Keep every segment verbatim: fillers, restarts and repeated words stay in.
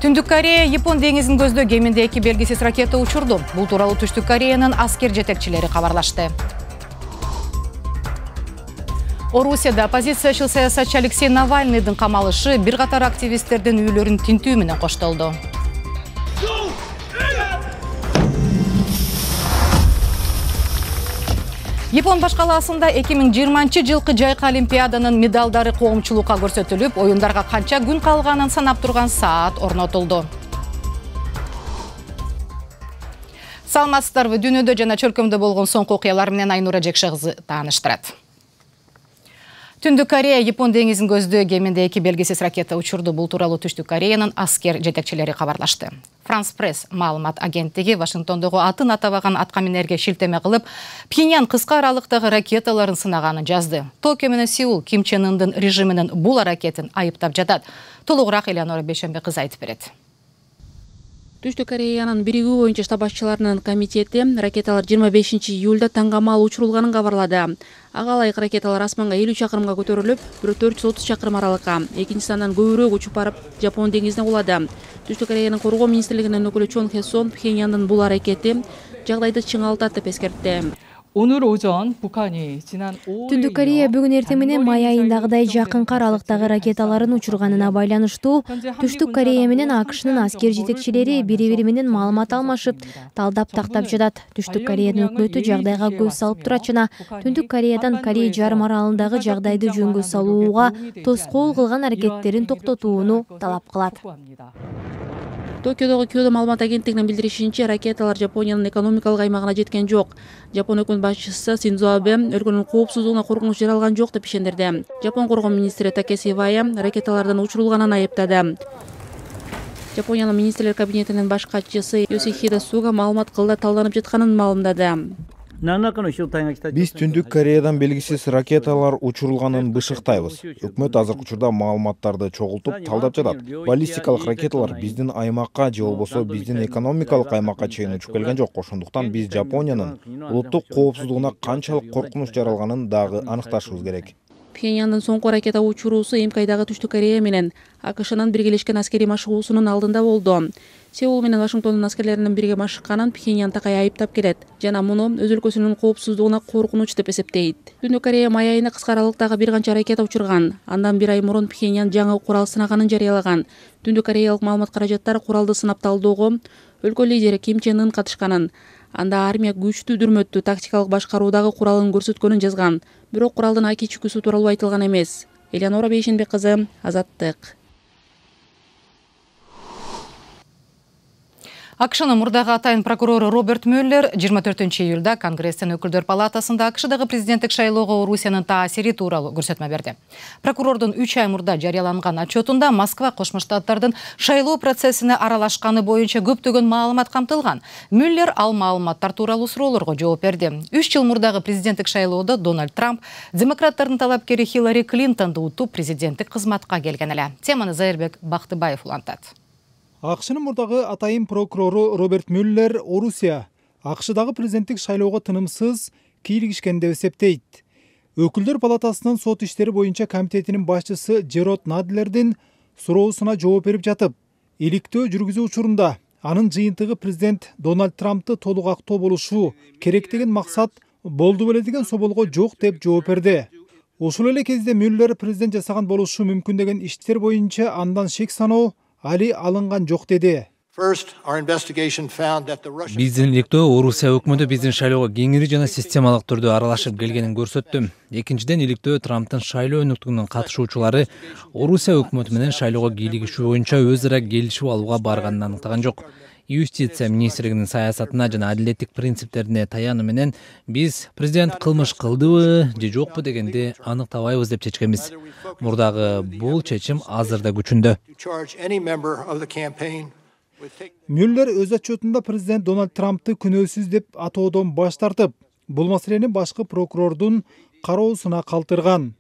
Түндүк Корея Япон деңизин көздөө кеминде эки белгисиз ракета учурду. Бул тууралуу Түштүк Кореянын аскер жетекчилери кабарлашты. Орусияда оппозициячыл саясатчы Алексей Навальныйдын камалышы бир катар активисттердин үйлөрүн тинтүү менен коштолду. Япон баш калаасында эки миң жыйырманчы жылкы жайкы олимпиаданын медалдары коомчулукка көрсөтүлүп, оюндарга канча күн калганын санап турган саат орнотулду. Саламатсыздарбы? Дүйнөдө жана чөлкөмдө болгон соңку окуялар менен Айнура Жекше кызы тааныштырат. Түндүк Корея Япон деңизин көздөө кеминде эки белгисиз ракета учурду. Бул тууралуу Түштүк Кореянын аскер жетекчилери кабарлашты. Франс Пресс маалымат агенттиги Вашингтондогу атын атабаган аткаминерге шилтеме кылып, Пхеньян кыска аралыктагы ракеталарын сынаганын жазды. Токио менен Сеул Ким Чен Ындын режиминин бул аракетин айыптап жатат. Толугураак Элеонора Бейшембе кызы айтып берет. Түштүк Кореянын биригүү боюнча штаб башчыларынын комитети ракеталар жыйырма бешинчи июлда таңгамал учурулганын кабарлады. Ага ылайык ракеталар асманга элүү чакырымга көтөрүлүп, бирөө төрт жүз отуз чакырым аралыкка, экинчиси андан көбүрөөк учуп барып Жапон деңизине кулады. Түштүк Кореянын коргоо министрлигинин өкүлү Чон Хесон Пхеньяндын бул аракети жагдайды чыңалтат деп эскертти. Түндүк Корея бүгүн эртең менен май айындагыдай жакынкы аралыктагы ракеталарын учурганына байланыштуу Түштүк Корея менен АКШнын аскер жетекчилери бири-бири менен маалымат алмашып, талдап тактап жатат. Түштүк Кореянын өкмөтү жагдайга көз салып турат жана Түндүк Кореядан Корей жарым аралындагы жагдайды жөнгө салууга тоскоол кылган аракеттерин токтотууну талап кылат. Токиодогу Кёдо маалымат агенттигинин билдиришинче, ракеталар Жапониянын экономикалык аймагына жеткен жок. Жапон өкмөт башчысы Синдзо Абе өлкөнүн коопсуздугуна коркунуч жаралган жок деп ишендирди. Жапон коргоо министри Такеси Ивая ракеталардын учурулганын айыптады. Жапониянын министрлер кабинетинин баш катчысы Йосихиде Суга маалымат кылда талданып жатканын маалымдады. Биз Түндүк Кореядан белгисиз ракеталар учурулганын бышыктайбыз. Өкмөт азыркы учурда маалыматтарды чогултуп талдап жатат. Баллистикалык ракеталар биздин аймакка же болбосо биздин экономикалык аймакка чейин учуп келген жок. Ошондуктан биз Жапониянын улуттук коопсуздугуна канчалык коркунуч жаралганын дагы аныкташыбыз керек. Пхеньяндын соңку ракета учуруусу Эмкайдагы Түштүк Корея менен АКШнын биргелешкен аскери машыгуусунун алдында болду. Сеул менен Вашингтондун аскерлеринин бирге машыкканын Пхеньян такай айыптап келет жана муну өз өлкөсүнүн коопсуздугуна коркунуч деп эсептейт. Түндүк Корея май айында кыска аралыктагы бир канча ракета учурган. Андан бир ай мурун Пхеньян жаңы курал сынаганын жарыялаган. Түндүк Кореялык маалымат каражаттар куралды сынап талоого өлкө лидери Ким Чен Ын катышканын, анда армия күчтүү дүрмөттүү тактикалык башкаруудагы куралын көрсөткөнүн жазган. Бирок куралдын аки чүкүсү тууралуу айтылган эмес. Элеонора Бейшембе кызы, Азаттык. АКШнын мурдагы атайын прокурору Роберт Мюллер жыйырма төртүнчү июлда Конгресстин өкүлдөр палатасында АКШдагы президенттик шайлоого Орусиянын таасири тууралуу көрсөтмө берди. Прокурордун үч ай мурда жарыяланган отчетунда Москва Кошмо Штаттардын шайлоо процессине аралашканы боюнча көптөгөн маалымат камтылган. Мюллер ал маалыматтар тууралуу суроолорго жооп берди. үч жыл мурдагы президенттик шайлоодо Дональд Трамп демократтардын талапкери Хиллари Клинтонду утуп президенттик кызматка келген эле. Теманы Зайырбек Бактыбаев улантат. АКШнын мурдагы атайын прокурору Роберт Мюллер Орусия АКШдагы президенттик шайлоого тынымсыз кийлигишкен деп эсептейт. Өкүлдөр палатасынын сот иштери боюнча комитетинин башчысы Джерод Надлердин суроосуна жооп берип жатып, иликтөө жүргүзүү учурунда анын жыйынтыгы президент Дональд Трампты толук актоо болушу керек деген максат болду беле деген соолго жок деп жооп берди. Ошол эле кезде Мюллер президент жасаган болушу мүмкүн деген иштер боюнча андан шек саноо али алынган жок деди. Биздин иликтөө Орусия өкмөтү биздин шайлоого кеңири жана системалык түрдө аралашып келгенин көрсөттү. Экинчиден, иликтөө Трамптын шайлоо өнүктүгүнүн катышуучулары Орусия өкмөтү менен шайлоого кийлигишүү боюнча өз ара келишип алууга барганын аныктаган жок. Юстиция министрлигинин саясатына жана адилеттик принциптерине таянуу менен биз президент кылмыш кылдыбы же жокпу дегенди аныктабайбыз деп чечкенбиз. Мурдагы бул чечим азыр да күчүндө. Мюллер өз отчетунда президент Дональд Трампты күнөөсүз деп атоодон баш тартып, бул маселени башкы прокурордун кароосуна калтырган.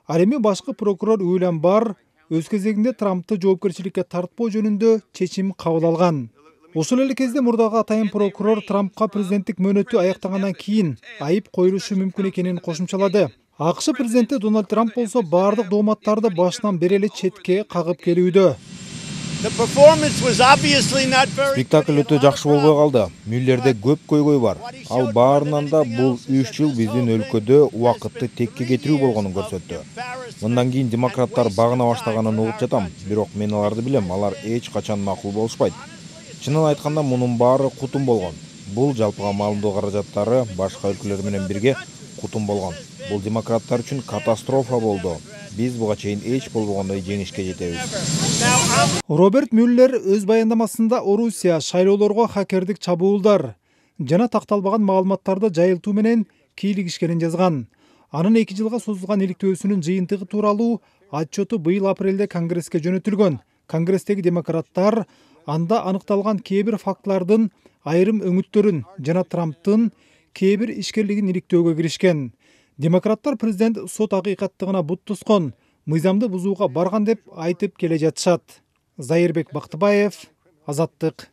Ал эми башкы прокурор Уильям Барр өз кезегинде Трампты жоопкерчиликке тартпоо жөнүндө чечим кабыл алган. Ошол эле кезде мурдагы атайын прокурор Трампка президенттик мөөнөтү аяктагандан кийин айып коюлушу мүмкүн экенин кошумчалады. АКШ президенти Дональд Трамп болсо бардык дооматтарды башынан бери эле четке кагып келүүдө. Спектакль өтө жакшы болбой калды. Мюллерде көп көйгөй бар. Ал баарынан да бул үч жыл биздин өлкөдө убакытты текке кетирүү болгонун көрсөттү. Мындан кийин демократтар багына баштаганын угуп жатам, бирок мен аларды билем, алар эч качан макул болушпайт. Чынын айтканда мунун баары кутум болгон. Бул жалпыга маалымдоо каражаттары башка өлкөлөр менен бирге кутум болгон. Бул демократтар үчүн катастрофа болду. Биз буга чейин эч болбогондой жеңишке жетебиз. Роберт Мюллер өз баяндамасында Орусия шайлоолорго хакердик чабуулдар жана такталбаган маалыматтарды жайылтуу менен кийлигишкенин жазган. Анын эки жылга созулган иликтөөсүнүн жыйынтыгы тууралуу отчету быйыл апрелде Конгресске жөнөтүлгөн. Конгресстеги демократтар анда аныкталган кээ бир фактылардын айрым өңүттөрүн жана Трамптын кээ бир ишкерлигин иликтөөгө киришкен. Демократтар президент сот акыйкаттыгына бут тускон, мыйзамды бузууга барган деп айтып келе жатышат. Зайырбек Бактыбаев, Азаттык.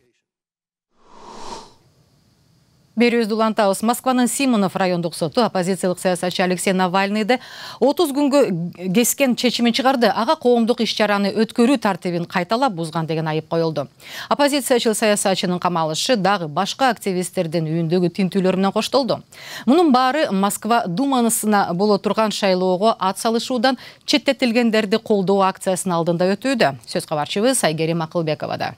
Берүүбүздү улантабыз. Москванын Симонов райондук соту оппозициялык саясатчы Алексей Навальныйды отуз күнгө кескен чечимин чыгарды. Ага коомдук иш-чараны өткөрүү тартибин кайталап бузган деген айып коюлду. Оппозициячыл саясатчынын камалышы дагы башка активисттердин үйүндөгү тинтүүлөр менен коштолду. Мунун баары Москва думанысына боло турган шайлоого ат салышуудан четтетилгендерди колдоо акциясынын алдында өтүүдө. Сөз кабарчыбыз Айгерим Акылбековада.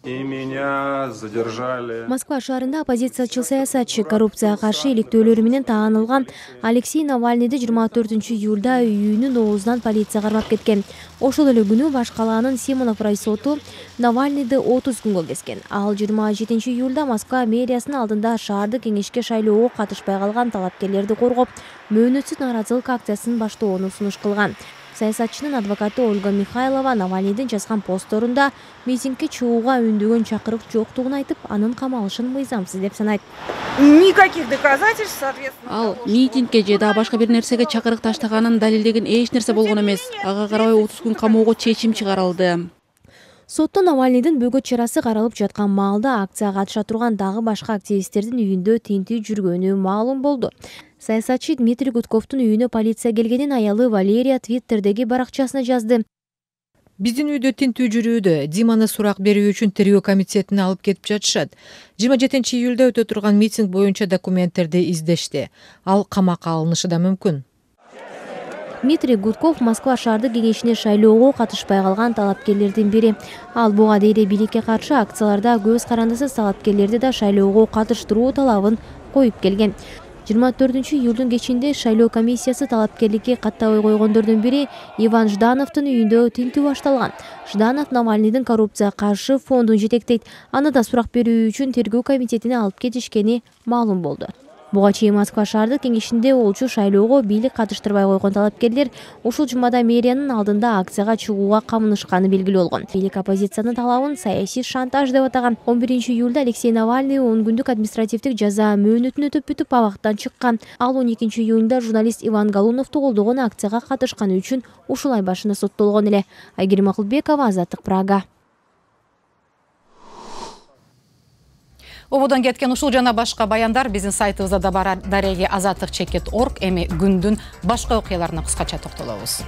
И меня задержали. Москва шаарында оппозициячыл саясатчы коррупцияга каршы иликтөөлөрү менен таанылган Алексей Навальныйды жыйырма төртүнчү июлда үйүнүн оозунан полиция кармап кеткен. Ошол эле күнү баш калаанын Симонов райсоту Навальныйды отуз күнгө кескен. Ал жыйырма жетинчи июлда Москва мэриясынын алдында шаардык кеңешке шайлоого катышпай калган талапкерлерди коргоп, мөөнөтсүз нааразылык акциясын баштоону сунуш кылган. Саясатчынын адвокаты Ольга Михайлова Навальныйдын жазган посторунда митингге чыгууга үндөгөн чакырык жоктугун айтып, анын камалышын мыйзамсыз деп санайт. Никаких доказательств, соответственно. Ал митингге же да башка бир нерсеге чакырык таштаганын далилдеген эч нерсе болгон эмес. Ага карабай отуз күн камоого чечим чыгарылды. Сотто Навальныйдын бөгөт чарасы каралып жаткан маалда акцияга катыша турган дагы башка активисттердин үйүндө тинтүү жүргөнү маалым болду. Саясатчы Дмитрий Гудковдун үйүнө полиция келгенин аялы Валерия Твиттердеги баракчасына жазды. Биздин үйдө тинтүү жүрүүдө, Диманы сурак берүү үчүн тергөө комитетине алып кетип жатышат. жыйырма жетинчи июлда өтө турган митинг боюнча документтерди издешти. Ал камакка алынышы да мүмкүн. Дмитрий Гудков Москва шаардык кеңешине шайлоого катышпай калган талапкерлердин бири. Ал буга дейре бийликке каршы акцияларда көз карандысыз талапкерлерди да шайлоого катыштыруу талабын коюп келген. жыйырма төртүнчү июлдун кечинде шайлоо комиссиясы талапкерликке каттабай койгондордун бири Иван Ждановдун үйүндө тинтүү башталган. Жданов Навальныйдын коррупцияга каршы фондун жетектейт. Аны да сурак берүү үчүн тергөө комитетине алып кетишкени маалым болду. Буга чейин Москва шаардык кеңешинде болчу шайлоого бийлик катыштырбай койгон талапкерлер ушул жумада мэриянын алдында акцияга чыгууга камынышканы белгилүү болгон. Бийлик оппозициянын талабын саясий шантаж деп атаган. он биринчи июлда Алексей Навальный он күндүк административдик жаза мөөнөтүн өтөп бүтүп абактан чыккан. Ал он экинчи июнда журналист Иван Галуновду колдогон акцияга катышканы үчүн ушул ай башында соттолгон эле. Айгерим Акылбекова, Азаттык, Прага. Ободон кеткен ушул жана башка баяндар биздин сайтыбызда да бар. Дареги азаттык чекит точка орг. Эми күндүн башка окуяларына кыскача токтолобуз.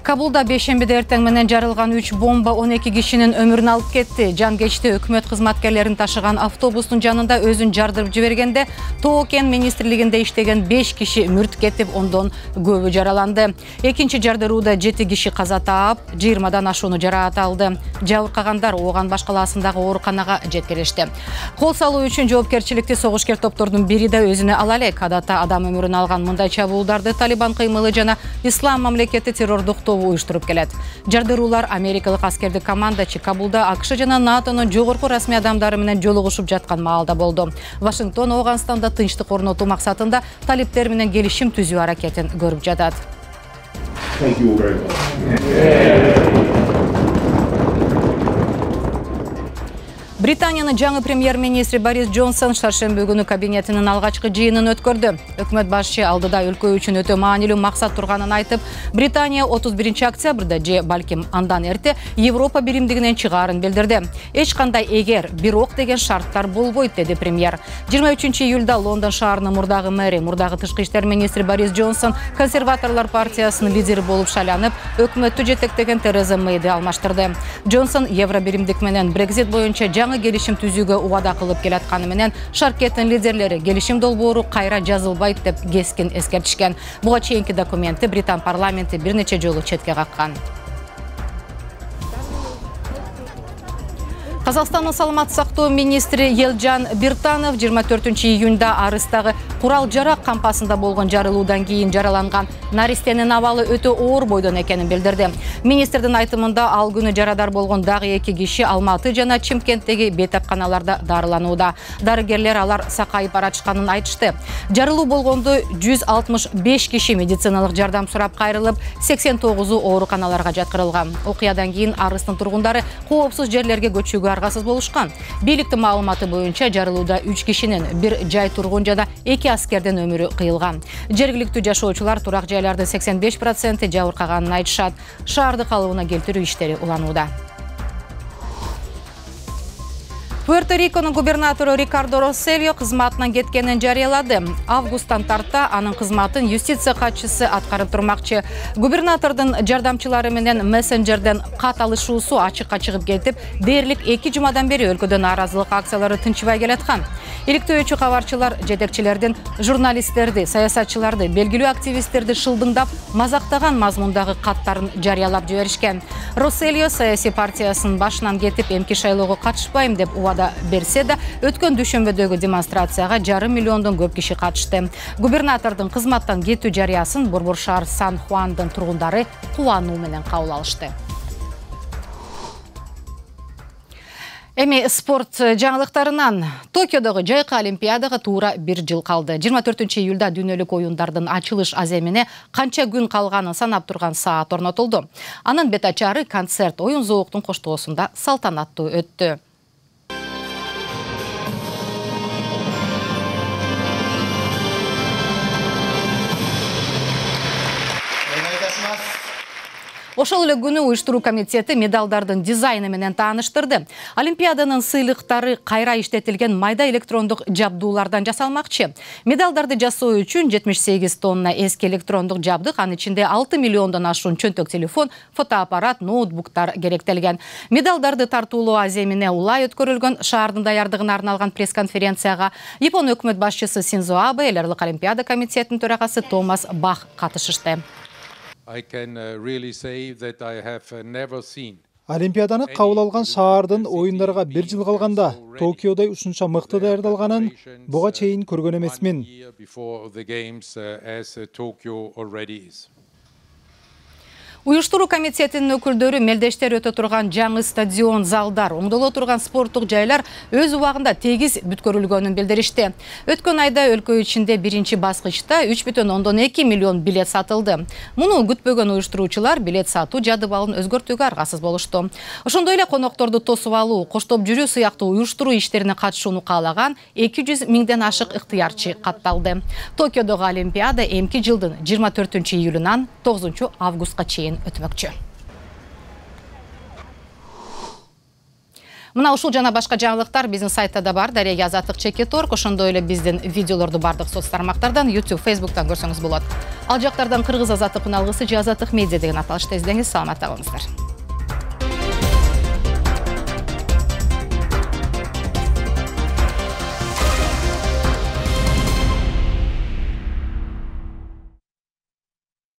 Кабулда бейшембиде эртең менен жарылган үч бомба он эки кишинин өмүрүн алып кетти. Жан кечте өкмөт кызматкерлерин ташыган автобустун жанында өзүн жардырып жибергенде Тоо-Кен министрлигинде иштеген беш киши мүрт кетип, ондон көбү жараланды. Экинчи жардырууда жети киши каза таап, жыйырмадан ашууну жараат алды. Жабыркагандар Ооган баш калаасындагы ооруканага жеткиришти. Кол салуу үчүн жоопкерчиликти согушкер топтордун бири да өзүнө ала элек. Адатта адам өмүрүн алган мындай чабуулдарды Талибан кыймылы жана Ислам мамлекети террордук уюштуруп келет. Жардыруулар америкалык аскердик командачы Кабулда АКШ жана НАТОнун жогорку расмий адамдары менен жолугушуп жаткан маалда болду. Вашингтон Ооганстанда тынчтык орнотуу максатында талиптер менен келишим түзүү аракетин көрүп жатат. Британиянын жаңы премьер-министри Борис Джонсон шаршемби күнү кабинетинин алгачкы жыйынын өткөрдү. Өкмөт башчы алдыда өлкө үчүн өтө маанилүү максат турганын айтып, Британия отуз биринчи октябрда же балким андан эрте Европа биримдигинен чыгаарын билдирди. Эч кандай эгер, бирок деген шарттар болбойт, деди премьер. жыйырма үчүнчү июлда Лондон шаарынын мурдагы мэри, мурдагы тышкы иштер министри Борис Джонсон консерваторлор партиясынын лидери болуп шайланып, өкмөттү жетектеген Тереза Мэйди алмаштырды. Джонсон евро биримдик менен Брексит боюнча жаңы келишим түзүүгө убада кылып келатканы менен шаркеттин лидерлери келишим долбоору кайра жазылбайт деп кескин эскертишкен. Буга чейинки документти Британ парламенти бир нече жолу четке каккан. Казакстандын саламаттык сактоо министри Елжан Биртанов жыйырма төртүнчү июнда арыстагы курал жарак кампасында болгон жарылуудан кийин жараланган наристенин абалы өтө оор бойдон экенин билдирди. Министрдин айтымында ал күнү жарадар болгон дагы эки киши Алматы жана Чымкенттеги бейтапканаларда дарыланууда. Дарыгерлер алар сакайып баратышканын айтышты. Жарылуу болгондо жүз алтымыш беш киши медициналык жардам сурап кайрылып, сексен тогузу ооруканаларга жаткырылган. Окуядан кийин арыстын тургундары коопсуз жерлерге көчүүгө аргасыз болушкан. Бийликтин маалыматы боюнча жарылууда үч кишинин, бир жай тургун жана эки аскердин өмүрү кыйылган. Жергиликтүү жашоочулар турак жайлардын сексен беш проценти жабыркаганын айтышат. Шаарды калыбына келтирүү иштери уланууда. Пуэрто-Риконун губернатору Рикардо Россельо кызматынан кеткенин жарыялады. Августтан тарта анын кызматын юстиция катчысы аткарып турмакчы. Губернатордун жардамчылары менен мессенджерден кат алышуусу ачыкка чыгып кетип, дээрлик эки жумадан бери өлкөдө нааразылык акциялары тынчыбай келаткан. Иликтөөчү кабарчылар жетекчилердин журналисттерди, саясатчыларды, белгилүү активисттерди шылдыңдап, мазактаган мазмундагы каттарын жарыялап жиберишкен. Россельо саясий партиясынын башынан кетип, эмки шайлоого катышпайм деп убада берсе да, өткөн дүйшөмбөдөгү демонстрацияга жарым миллиондон көп киши катышты. Губернатордун кызматтан кетүү жарыясын Борбор шаар Сан-Хуандын тургундары кубануу менен кабыл алышты. Эми спорт жаңылыктарынан Токиодогу жайкы олимпиадага туура бир жыл калды. жыйырма төртүнчү июлда дүйнөлүк оюндардын ачылыш аземине канча күн калганын санап турган саат орнотулду. Анын бет ачары концерт оюн зооктун коштоосунда салтанаттуу өттү. Ошол эле күнү уюштуруу комитети медалдардын дизайны менен тааныштырды. Олимпиаданын сыйлыктары кайра иштетилген майда электрондук жабдуулардан жасалмакчы. Медалдарды жасоо үчүн жетимиш сегиз тонна эски электрондук жабдык, анын ичинде алты миллиондон ашуун чөнтөк телефон, фотоаппарат, ноутбуктар керектелген. Медалдарды тартуулоо аземине улай өткөрүлгөн шаардын даярдыгына арналган пресс-конференцияга Япон өкмөт башчысы Синдзо Абе, эл аралык олимпиада комитетинин төрагасы Томас Бах катышышты. Олимпиаданы кабыл алган шаардын оюндарга бир жыл калганда Токиодой ушунча мыкты даярдалганын буга чейин көргөн эмесмин. Уюштуруу комитетинин өкүлдөрү мелдештер өтө турган жаңы стадион, залдар, оңдоло турган спорттук жайлар өз убагында тегиз бүткөрүлгөнүн билдиришти. Өткөн айда өлкө ичинде биринчи баскычта үч бүтүн ондон эки миллион билет сатылды. Муну күтпөгөн уюштуруучулар билет сатуу жадыбалын өзгөртүүгө аргасыз болушту. Ошондой эле конокторду тосуп алуу, коштоп жүрүү сыяктуу уюштуруу иштерине катышууну каалаган эки жүз миңден ашык ыктыярчы катталды. Токиодогу олимпиада эмки жылдын жыйырма төртүнчү июлунан тогузунчу августка чейин өтмөкчү. Мына ушул жана башка жаңылыктар биздин сайтта да бар. Дария Азаттык чекит точка орг. Ошондой эле биздин видеолорду бардык соц тармактардан, YouTube, Facebook'тан көрсөңүз болот. Ал жактардан Кыргыз Азаттык үн алгысы же Азаттык медиа деген аталышта издеңиз. Саламатта болуңуздар.